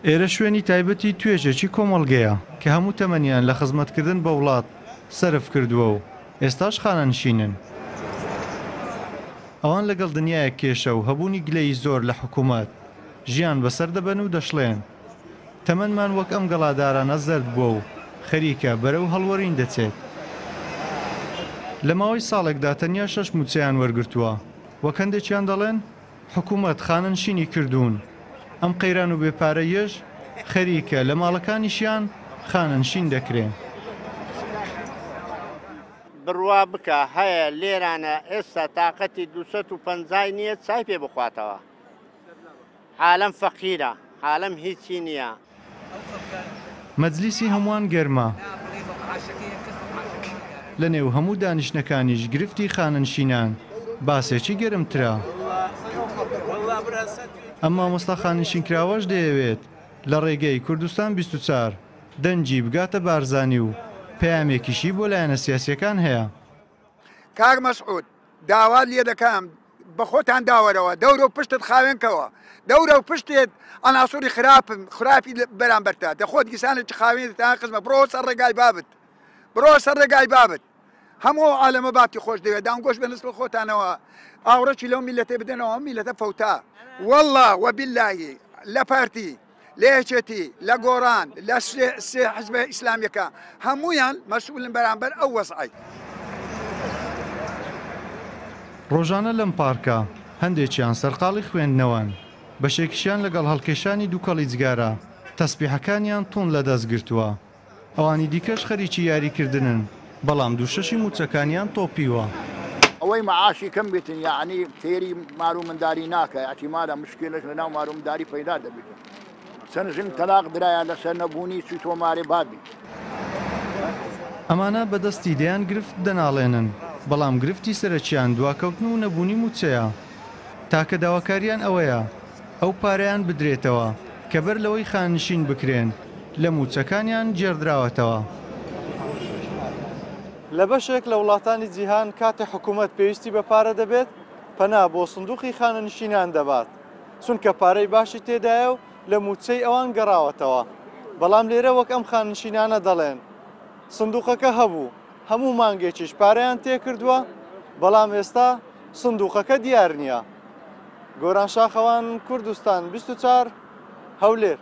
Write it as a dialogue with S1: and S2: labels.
S1: ئێرە شوێنی تایبەتی توێژێکی کۆمەڵگەیە کە هەموو تەمەنیان لە خزمەتکردن بە وڵات سەرف کردووە و ئێستاش خانەنشینن. ئەوان لەگەڵ دنیایەک کێشە و هەبوونی گلەیی زۆر لە حکوومەت، ژیان بەسەر دەبەن و دەشڵێن، تەمەنمان وەک ئەم گەڵادارانە زەرد بووە و خەریکە بەرەو هەڵوەرین دەچێت. لە ماوەی ساڵێکدا تەنیا شەش مووچەیان وەرگرتووە، وەک هەندێکیان دەڵێن، حکوومەت خانەنشینی کردوون، ئەم قەیران و بێ پارەییەش خەریکە لە ماڵەکانیشیان خانەنشین دەکرێن.
S2: بڕوا بکە هەیە لێرانە ئێستا تاقەتی 250 ی نییە چای پێ بخواتەوە. عالەم فەقیرە عالەم هیچی نیە.
S1: مەجلیسی هەمووان گەرمە. لە نێو هەموو دانیشتنەکانیش گرفتی خانەنشینان باسێکی گەرمترە. ئەم مامۆستا خانەنشینکراوەش دەیەوێت لە ڕێگەی کوردستان 24 دەنگی بگاتە بارزانی و پەیامێکیشی بۆ لایەنە سیاسییەکان هەیە.
S3: کاک مەسعود داوات لێ دەکەم بە خۆتان داوەرەوە دەورە و پشتت خاوێن کەوە دەورە و پشتێت ئەناسوری خراپن خراپی بەرامبەرتە دە خۆت گیسانێکی خاوێن تا خزمە بڕۆ سەر ڕێگای بابت بڕۆ سەر ڕێگای بابت هەموو ئەو عالەمە بابتی خۆش دەوێت دانگۆش بە نسل خۆتانەوە ئاوڕەکی لەو میلەتەی بدەنەوە ئەم میلەتە فەوتا والله وباللهی لە پارتی لە یەکێتی، لە گۆڕان، لە سێ حزبە ئیسلامیەکە هەموویان مەسئولن بەرامبەر ئەو وەزعەی.
S1: ڕۆژانە لەم پارکە هەندێکیان سەرقاڵی خوێندنەوەن، بەشێکیشیان لەگەڵ هەڵکێشانی دووکەڵی جگارە تەسبیحەکانیان توند لەدەست گرتووە. ئەوانی دیکەش خەریکی یاریکردنن، بەڵام دووشەشی مووچەکانیان تۆپیوە.
S4: ئەوەی مەعاشی کەم بیتن یەعنی تێری مارو منداری ناکا ئیحتیمالە مشکیلەش لە ناو مارو منداری پەیدا دەبیتن چەند ژن تەلاق درایە لەسەر نەبوونی چوی تۆمارێ بابی.
S1: ئەمانە بە دەستی دەیان گرفت دەناڵێنن، بەڵام گرفتی سەرەکیان دواکەوتن و نەبوونی مووچەیە. تاکە داواکارییان ئەوەیە ئەو پارەیان بدرێتەوە کە بەر لەوەی خانەنشین بکرێن لە مووچەکانیان گێڕدراوەتەوە. لە بەشێک لە وڵاتانی جیهان کاتێ حکوومەت پێویستی بە پارە دەبێت، پەنا بۆ سندووقی خانەنشینان دەبات، چونکە پارەی باشی تێدایە و لە مووچەی ئەوان گەڕاوەتەوە. بەڵام لێرە وەک ئەم خانەنشینانە دەڵێن، سندووقەکە هەبوو، هەموو مانگێکیش پارەیان تێکردووە، بەڵام ئێستا سندووقەکە دیار نییە. گۆران شاخەوان، کوردستان 24، هەولێر.